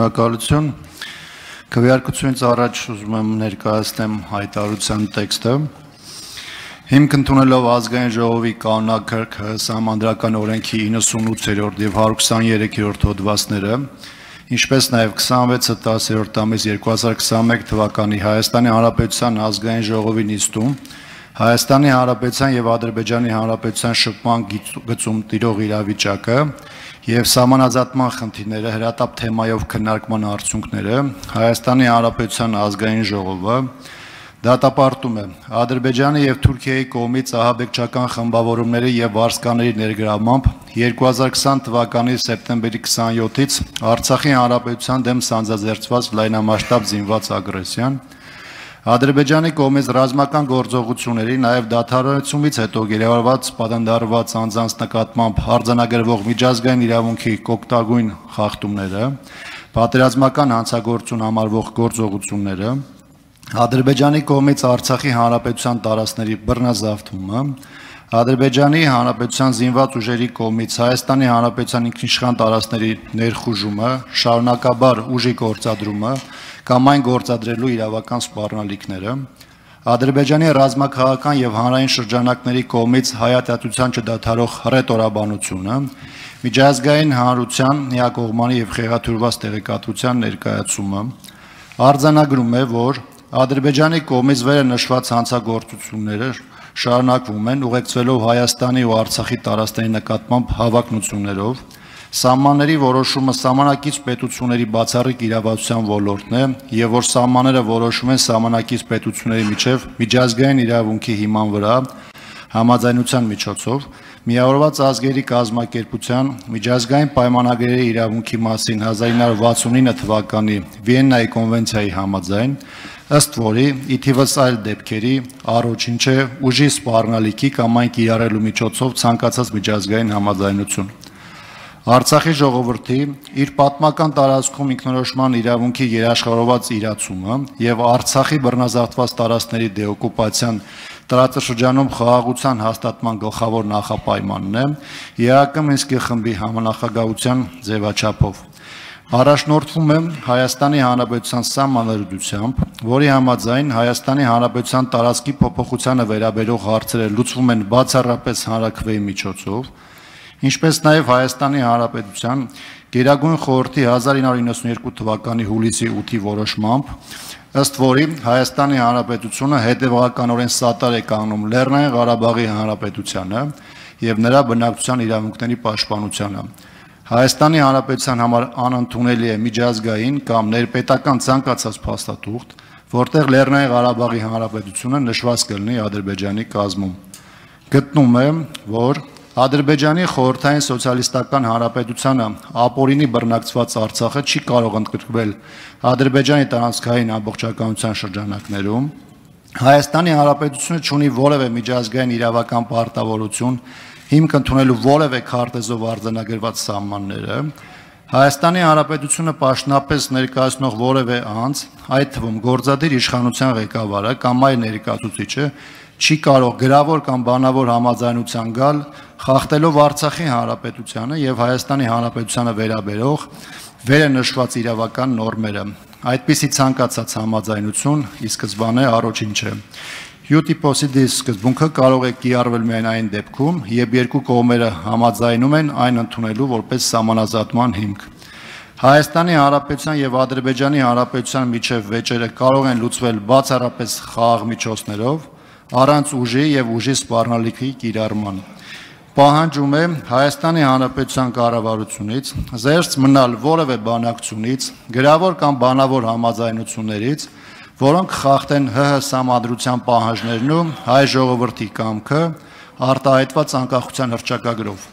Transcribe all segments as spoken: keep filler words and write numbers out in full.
Շնորհակալություն։ Քվեարկությունից առաջ ուզում եմ ներկայացնեմ հայտարարության տեքստը։ Հիմք ընդունելով ազգային ժողովի կանոնակարգ սահմանադրական օրենքի իննսունութերորդ եւ հարյուր քսաներեքերորդ հոդվածները, ինչպես նաեւ քսանվեցը տասերորդ ամիս երկու հազար քսաներեք թվականի Հայաստանի Հանրապետության ազգային ժողովի նիստում Հայաստանի Հանրապետության եւ Ադրբեջանի Հանրապետության շփման գծում տիրող իրավիճակը եւ սահմանազատման խնդիրները հրատապ թեմայով քննարկման արդյունքները Հայաստանի Հանրապետության ազգային ժողովը դատապարտում է Ադրբեջանի եւ Թուրքիայի կողմից ահաբեկչական խմբավորումների եւ վարձկաների ներգրավմամբ երկու հազար քսան թվականի սեպտեմբերի քսանյոթից Արցախի Հանրապետության դեմ սանձազերծված լայնամասշտաբ զինված ագրեսիան Ադրբեջանի կողմից ռազմական գործողությունների նաև դադարեցումից հետո գերեվարված պատանդարված անձանց նկատմամբ արձանագրվող միջազգային իրավունքի կոկտագույն խախտումները, պատերազմական հանցագործություն համարվող գործողությունները, Ադրբեջանի կողմից Արցախի Հանրապետության տարածքների բռնազավթումը, Ադրբեջանի Հանրապետության զինված ուժերի կողմից Հայաստանի Հանրապետության ինքնիշխան տարածքների ներխուժումը, շարունակաբար ուժի գործադրումը կամ այն գործադրելու իրավական սպառնալիքները, Ադրբեջանի ռազմաքաղաքական եւ հանրային շրջանակների կողմից հայատյացության չդադարող հռետորաբանությունը, միջազգային հանրության միակողմանի եւ խեղաթյուրված տեղեկատվության ներկայացումը, արձանագրում է, որ Ադրբեջանի կողմից վերը նշված հանցագործությունները շարունակվում են ուղեկցվելով Հայաստանի ու Արցախի տարածքների նկատմամբ հավակնություններով, Սահմանների որոշումը սահմանակից պետությունների բացառիկ իրավասության ոլորտն է եւ որ սահմանները որոշում են սահմանակից պետությունների միջև միջազգային իրավունքի հիման վրա համաձայնության միջոցով միավորված ազգերի կազմակերպության միջազգային պայմանագրերի իրավունքի մասին հազար ինը հարյուր վաթսունինը թվականի Վիեննայի կոնվենցիայի համաձայն ըստ որի ի թիվս այլ դեպքերի առաջինչ է ուժի սպառնալիքի կամ այն կիրառելու միջոցով ցանկացած միջազգային համաձայնություն Արցախի ժողովրդի իր պատմական տարածքում ինքնորոշման իրավունքի երաշխավորված իրացումը եւ Արցախի բռնազավթված տարածքների դեօկուպացիան տարածաշրջանում խաղաղության հաստատման գլխավոր նախապայմանն է ԵԱԿ Մինսկի խմբի համանախագահության ձևաչափով Առաջնորդվում է Հայաստանի Հանրապետության սահմանադրությամբ, որի համաձայն Հայաստանի Հանրապետության տարածքի փոփոխությանը վերաբերող հարցերը լուծվում են բացառապես հանրաքվեի միջոցով Ինչպես նաև Հայաստանի Հանրապետության Գերագույն խորհրդի հազար ինը հարյուր իննսունյերկու թվականի հուլիսի ութի որոշմամբ, ըստ որի Հայաստանի Հանրապետությունը հետևողականորեն սատար է կանգնում Լեռնային Ղարաբաղի Հանրապետությանը եւ նրա բնակչության իրավունքների պաշտպանությանը։ Հայաստանի Հանրապետության համար անընդունելի է միջազգային կամ ներպետական ցանկացած փաստաթուղթ, որտեղ Լեռնային Ղարաբաղի Հանրապետությունը նշված կլինի Ադրբեջանի կազմում։ Գտնում է, որ Ադրբեջանի խորհրդային սոցիալիստական հանրապետությանը ապօրինի բռնակցված Արցախը չի կարող ընդգրկվել Ադրբեջանի տարածքային ամբողջականության շրջանակներում Հայաստանի Հանրապետությունը չունի որևէ միջազգային իրավական պարտավորություն հիմք ընդունելու որևէ քարտեզով արձանագրված սահմանները Հայաստանի Հանրապետությունը պաշտոնապես ներկայացնող որևէ անձ, այդ թվում գործադիր իշխանության ղեկավարը կամ այլ ներկայացուցիչը չի կարող գրավոր կամ բանավոր համաձայնության գալ խախտելով Արցախի Հանրապետությանը եւ Հայաստանի Հանրապետությանը վերաբերող վերը նշված իրավական նորմերը։ Այդպիսի ցանկացած համաձայնություն ի սկզբանե առաջինչ է։ Յուտիպոսիդի սկզբունքը կարող է կիրառվել միայն այն դեպքում, երբ երկու կողմերը համաձայնում են այն ընդունելու որպես սահմանազատման հիմք։ Հայաստանի Հանրապետության եւ Ադրբեջանի Հանրապետության միջև վեճերը կարող են լուծվել բացառապես խաղաղ միջոցներով, առանց ուժի եւ ուժի սպառնալիքի կիրառման։ Պահանջում է Հայաստանի Հանրապետության կառավարությունից զերծ մնալ որևէ բանակցությունից, գրավոր կամ բանավոր համաձայնություններից, որոնք խախտեն ՀՀ սահմանադրության պահանջներն ու հայ ժողովրդի կամքը արտահայտված անկախության հռչակագրով։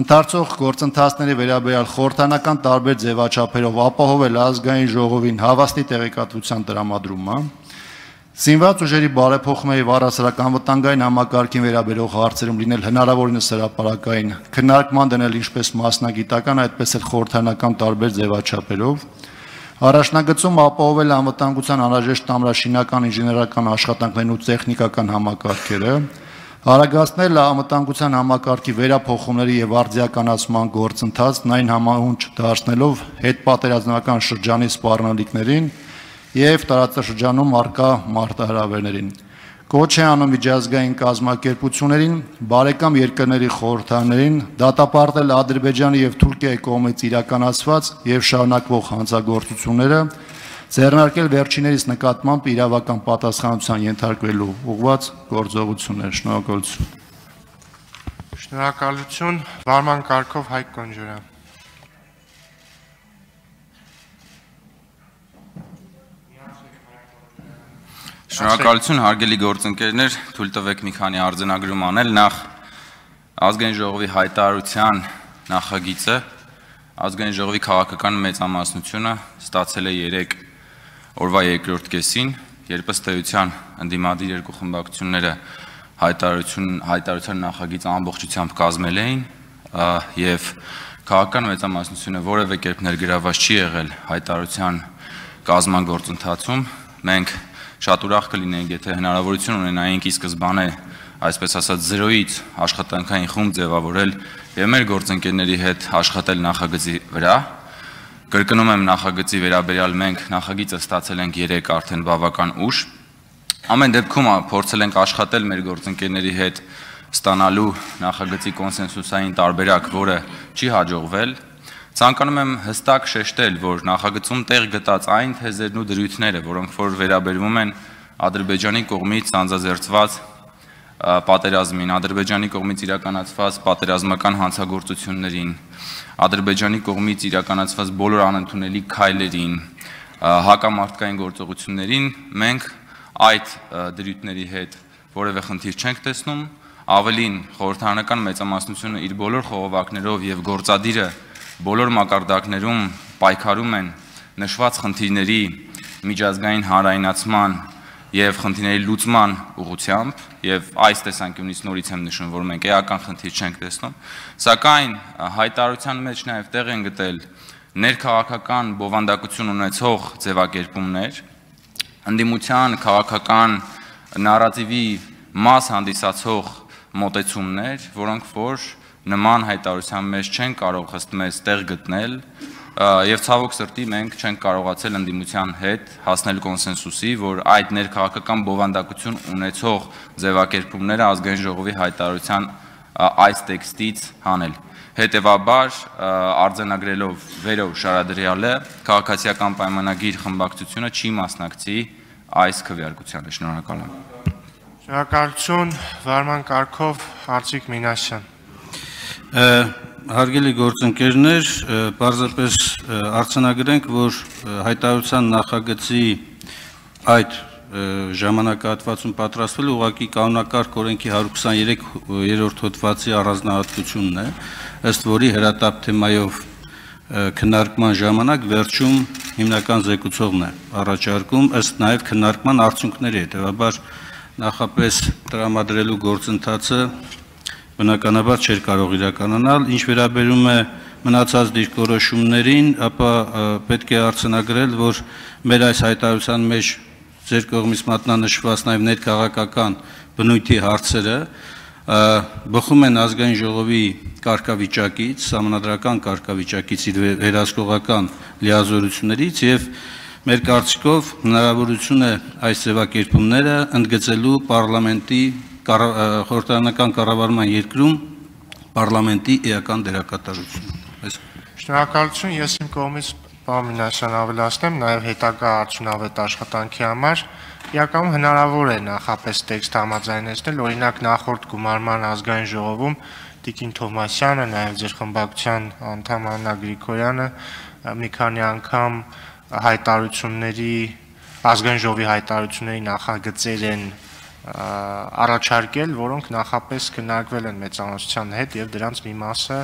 Ընթացող գործընթացների վերաբերյալ խորհրդանական տարբեր ձևաչափերով ապահովել ազգային ժողովին հավաստի տեղեկատվության տրամադրումը, Զինված ուժերի բարեփոխումների առասարական վտանգային համակարգին վերաբերող հարցերում լինել հնարավորինս հրապարակային քննարկման դնել ինչպես մասնագիտական, այդպես էլ խորհրդանական տարբեր ձևաչափերով, առաջնագծում ապահովել անվտանգության անհրաժեշտ ամրաշինական ինժեներական աշխատանքներն ու տեխնիկական համակարգերը, Արագացնել անվտանգության համակարգի վերափոխումների եւ արդիականացման գործընթացն այն համահունչ դարձնելով հետպատերազմական շրջանի սպառնալիքներին եւ տարածաշրջանում արկա մարտահրավերներին։ Կոչ է անում միջազգային կազմակերպություններին, բարեկամ երկրների խորհրդաներին դատապարտել Ադրբեջանի եւ Թուրքիայի կողմից իրականացված եւ շարունակվող հանցագործությունները, ձեռնարկել վերջիներիս նկատմամբ իրավական պատասխանատվության ենթարկվելու ուղղված գործողություններ։ Շնորհակալություն։ Շնորհակալություն, վարման կարգով Հայկ Կոնջորյան։ Շնորհակալություն, հարգելի գործընկերներ, թույլ տվեք մի քանի արձանագրում անել։ Նախ ազգային ժողովի հայտարարության նախագիծը ազգային ժողովի քաղաքական մեծամասնությունը ստացել է երեք օրվա երկրորդ կեսին, երբ ըստ էության ընդդիմադիր երկու խմբակցությունները հայտարարություն հայտարարության նախագիծը ամբողջությամբ կազմել էին եւ քաղաքական մեծամասնությունը որևէ կերպ ներգրաված չի եղել հայտարարության կազմման գործընթացում, մենք շատ ուրախ կլինենք, եթե հնարավորություն ունենայինք ի սկզբանե, այսպես ասած, զրոյից աշխատանքային խումբ ձևավորել եւ մեր գործընկերների հետ աշխատել նախագծի վրա։ Կրկնում եմ, նախագծի վերաբերյալ մենք նախագիծը ստացել ենք երեք արդեն բավական ուշ։ Ամեն դեպքում փորձել ենք աշխատել մեր գործընկերների հետ ստանալու նախագծի կոնսենսուսային տարբերակ, որը չի հաջողվել։ Ցանկանում եմ հստակ շեշտել, որ նախագծում տեղ գտած այն թեզերն ու դրույթները, որոնք որ վերաբերվում են Ադրբեջանի կողմից անձազերծված պատերազմին, Ադրբեջանի կողմից իրականացված պատերազմական հանցագործություններին, Ադրբեջանի կողմից իրականացված բոլոր անընդունելի քայլերին, հակամարտկային գործողություններին, մենք այդ դրույթների հետ որևէ խնդիր չենք տեսնում, ավելին խորհրդարանական մեծամասնությունը իր բոլոր խողովակներով եւ գործադիրը բոլոր մակարդակներում պայքարում են նշված խնդիրների միջազգային հանրայնացման եւ խնդիրների լուծման ուղղությամբ եւ այս տեսանկյունից նորից եմ նշում, որ մենք էական խնդիր չենք տեսնում, սակայն հայտարարության մեջ նաեւ տեղ են գտել ներքաղաքական բովանդակություն ունեցող ձևակերպումներ, ընդդիմության քաղաքական նարատիվի մաս հանդիսացող մոտեցումներ, որոնք որ նման հայտարարության մեջ չեն կարող ըստ մեզ տեղ գտնել եւ ցավոք սրտի մենք չենք կարողացել ընդդիմության հետ հասնել կոնսենսուսի, որ այդ ներքաղաքական բովանդակություն ունեցող ձևակերպումները ազգային ժողովի հայտարարության այս տեքստից հանել։ Հետևաբար արձանագրելով վերով շարադրյալը քաղաքացիական պայմանագիր խմբակցությունը չի մասնակցի այս քվեարկությանը։ Շնորհակալ եմ։ Շնորհակալություն, վարման կարգով Արծիկ Մինասյան։ Հարգելի գործընկերներ, պարզապես արձանագրենք, որ հայտարարության նախագծի այդ ժամանակահատվածում պատրաստվել ուղղակի կանոնակարգ օրենքի հարյուր քսաներեք-րդ հոդվածի առանձնահատկությունն է, ըստ որի հրատապ թեմայով քննարկման ժամանակ վերջում հիմնական զեկուցողն է առաջարկում, ըստ նաև քննարկման արդյունքների, հետևաբար նախապես տրամադրելու գործընթացը բնականաբար չէր կարող իրականանալ, ինչ վերաբերում է մնացած դիրքորոշումներին, ապա պետք է արձանագրել, որ մեր այս հայտարարության մեջ ձեր կողմից մատնանշված նաև ներքաղաքական բնույթի հարցերը բխում են ազգային ժողովի կարգավիճակից, սահմանադրական կարգավիճակից, իր վերահսկողական լիազորություններից եւ մեր կարծիքով հնարավորություն է այս ձևակերպումները ընդգծելու պարլամենտի խորհրդարանական կառավարման երկրում պարլամենտի էական դերակատարություն։ Շնորհակալություն, ես իմ կողմից պարոն Մինասյան ավելացնեմ, նաև հետագա արդյունավետ աշխատանքի համար իրականում հնարավոր է նախապես տեքստ համաձայնեցնել, օրինակ նախորդ գումարման ազգային ժողովում Տիկին Թովմասյանը, նաև ձեր խմբակցության անդամ Աննա Գրիգորյանը մի քանի անգամ հայտարարությունների ազգային ժողովի հայտարարությունների նախագծեր են առաջարկել, որոնք նախապես քննարկվել են մեծամասնության հետ եւ դրանց մի մասը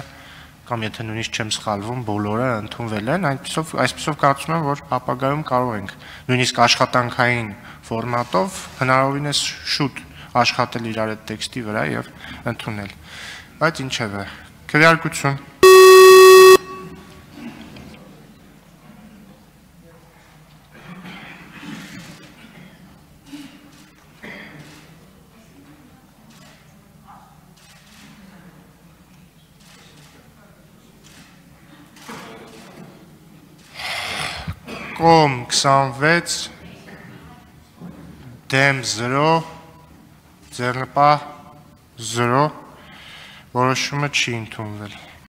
կամ եթե նույնիսկ չեմ սխալվում, բոլորը ընդունվել են, այնպիսով այսպիսով կարծում եմ, որ ապագայում կարող ենք նույնիսկ աշխատանքային ֆորմատով հնարավորինս շուտ աշխատել իրար այդ տեքստի վրա եւ ընդունել։ Բայց ինչևէ, քվեարկություն։ կողմ քսանվեց, դեմ զրո, ձեռնպահ զրո, որոշումը չի ընդունվել։